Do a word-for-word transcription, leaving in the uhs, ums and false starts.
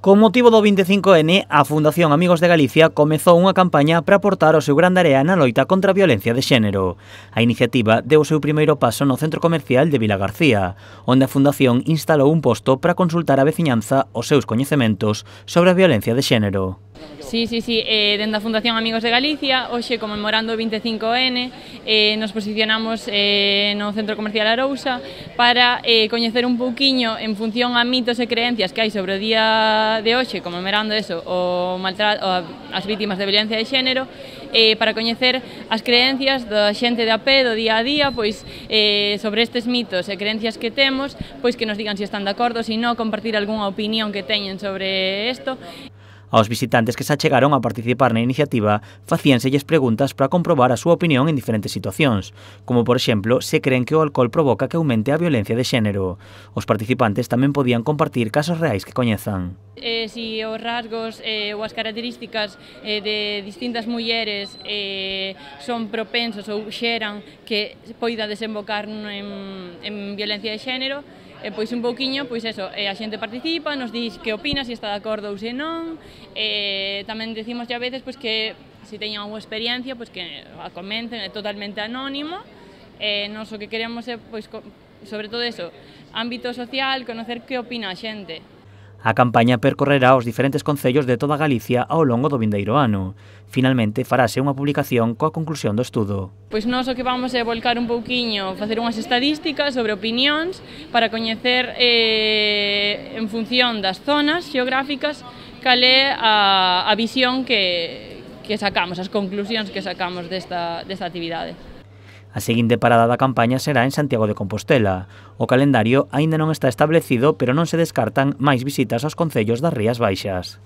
Con motivo do vinte e cinco ene, a Fundación Amigos de Galicia comezou unha campaña para aportar o seu gran area na loita contra a violencia de xénero. A iniciativa deu o seu primeiro paso no centro comercial de Vilagarcía, onde a Fundación instalou un posto para consultar a veciñanza os seus coñecementos sobre a violencia de xénero. Sí, sí, sí, eh, dende a Fundación Amigos de Galicia, hoxe conmemorando o vinte e cinco ene, eh, nos posicionamos eh, no Centro Comercial Arousa para eh, coñecer un pouquiño en función a mitos e creencias que hai sobre o día de hoxe, conmemorando eso, o maltrato, as vítimas de violencia de xénero, eh, para coñecer as creencias da xente de a pé, do día a día, pois eh, sobre estes mitos e creencias que temos, pois que nos digan se están de acordo, se non, compartir algunha opinión que teñen sobre isto. Aos visitantes que se achegaron a participar na iniciativa facíanselles preguntas para comprobar a súa opinión en diferentes situacións, como por exemplo, se creen que o alcohol provoca que aumente a violencia de xénero. Os participantes tamén podían compartir casos reais que coñezan. Eh, si os rasgos eh, ou as características eh, de distintas mulleres eh, son propensos ou xeran que poida desembocar en, en violencia de xénero, E, pois un pouquiño, pois eso, eh, a xente participa, nos dix que opina, se está de acordo ou se non, eh, tamén decimos a veces pois, que se teñan unha experiencia, pois, que a comenten, é totalmente anónimo, eh, nos o que queremos é, pois, sobre todo eso, ámbito social, conocer que opina a xente. A campaña percorrerá os diferentes concellos de toda Galicia ao longo do vindeiro ano. Finalmente, farase unha publicación coa conclusión do estudo. Pois nós o que vamos é volcar un pouquiño, facer unhas estadísticas sobre opinións para coñecer eh, en función das zonas xeográficas cal é a, a visión que, que sacamos, as conclusións que sacamos desta, desta actividade. A seguinte parada da campaña será en Santiago de Compostela. O calendario aínda non está establecido, pero non se descartan máis visitas aos concellos das Rías Baixas.